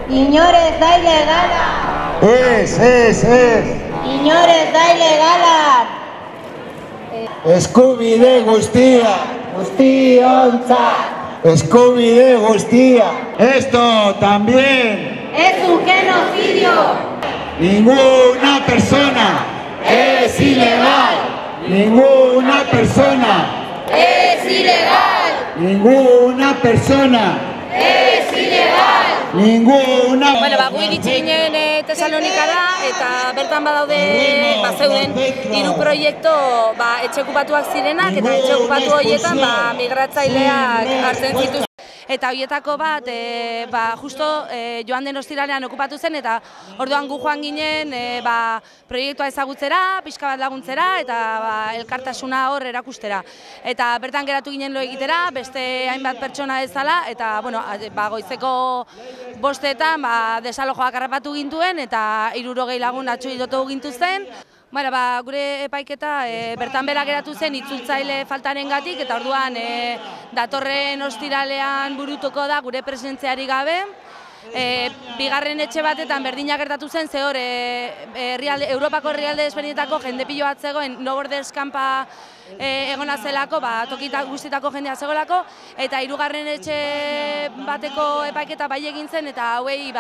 Inor ez da ilegala. Ez. Inor ez da ilegala. Eskubide guztia. Guztiontzat. Eskubide guztia. Esto también. Es un genocidio. Ninguna persona Es ilegal. Ninguna persona Es ilegal. Ninguna persona Es ilegal. Ninguna. Gu iritsi ginen Tesalonikara eta bertan bazeuden 3 proiektu etxe okupatuak zirenak eta etxe okupatu horietan migratzaileak hartzen zituzten. Eta horietako bat, justo joan den ostiralean okupatu zen, eta orduan gu joan ginen proiektua ezagutzera, pixka bat laguntzera, eta elkartasuna hor erakustera. Eta bertan geratu ginen lo egitera, beste hainbat pertsona ezala, eta goizeko 5:00 desalojoak harrapatu gintuen, eta 60 lagun atxilotu gintuzten. Gure epaiketa bertan bera geratu zen itzultzaile faltarengatik, eta orduan datorren ostiralean burutuko da gure presentziari gabe. Bigarren etxe batetan berdina gertatu zen, ze hor Europako herrialde desberdinetako jende pilo bat zegoen, No Borders kanpa egona zelako, toki guztietako jendea zegoelako, eta 3. etxe bateko epaiketa bai egin zen, eta hauei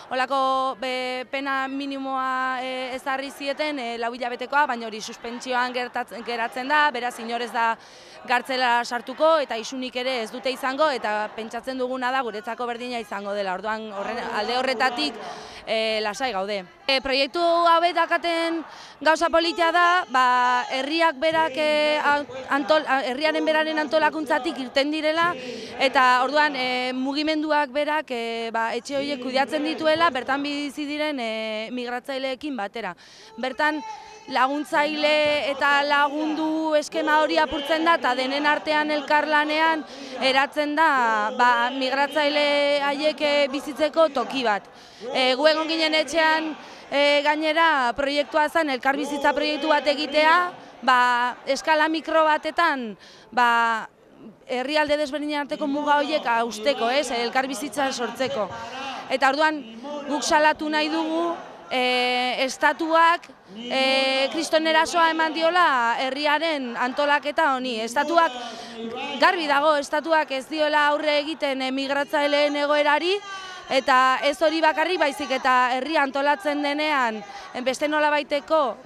holako pena minimoa ezarri zieten 4 hilabetekoa, baina hori suspentsioan geratzen da, beraz inor ez da gartzela sartuko, eta isunik ere ez dute izango, eta pentsatzen duguna da guretzako berdina izango dela, orduan alde horretatik lasai gaude. Proiektu hauek dakaten gauza politia da, herriak berak herriaren beraren antolakuntzatik irten direla, eta orduan mugimenduak berak etxe horiek kudeatzen dituela, bertan bizi diren migratzaileekin batera. Bertan laguntzaile eta lagundu eskema hori apurtzen da, eta denen artean elkarlanean eratzen da migratzaile haiek bizitzeko toki bat. Gu egon ginen etxean gainera proiektua zen elkarbizitza proiektu bat egitea, eskala mikro batetan herrialde desberdinen arteko muga horiek hausteko, elkarbizitza sortzeko. Eta orduan guk salatu nahi dugu estatuak kriston erasoa eman diola herriaren antolaketa honi. Estatuak, garbi dago, estatuak ez diola aurre egiten migratzaileen egoerari, eta ez hori bakarrik baizik eta herria antolatzen denean beste nolabaiteko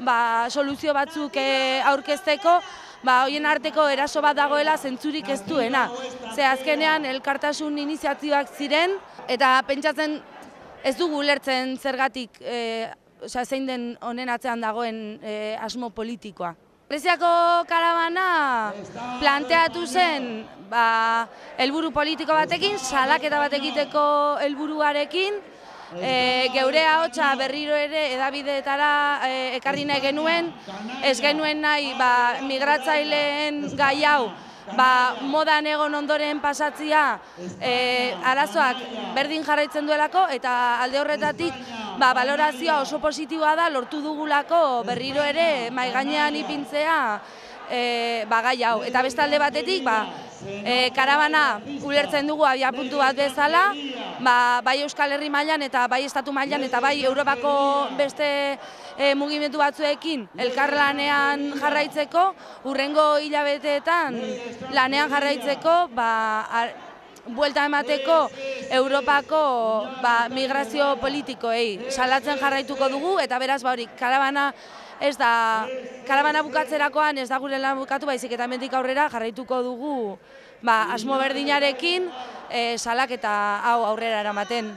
soluzio batzuk aurkezteko, horien arteko eraso bat dagoela zentzurik ez duena. Ze azkenean elkartasun iniziatibak ziren, eta pentsatzen ez dugu ulertzen zergatik zein den honen atzean dagoen asmo politikoa. Greziako karabana planteatu zen helburu politiko batekin, salaketa bat egiteko helburuarekin, geure ahotsa berriro ere hedabideetara ekarri nahi genuen, ez genuen nahi migratzaileen gai hau modan egon ondoren pasatzia arazoak berdin jarraitzen duelako, eta alde horretatik balorazioa oso positiboa da lortu dugulako berriro ere mahai gainean ipintzea gai hau. Eta beste alde batetik karabana ulertzen dugu abiapuntu bat bezala, bai Euskal Herri mailan eta bai Estatu mailan eta bai Europako beste mugimendu batzuekin elkarlanean jarraitzeko, hurrengo hilabeteetan lanean jarraitzeko, buelta emateko Europako migrazio politikoei salatzen jarraituko dugu, eta beraz hori karabana ez da, karabana bukatzerakoan ez da gure lan bukatu, baizik eta hemendik aurrera jarraituko dugu asmo berdinarekin salaketa hau aurrera eramaten.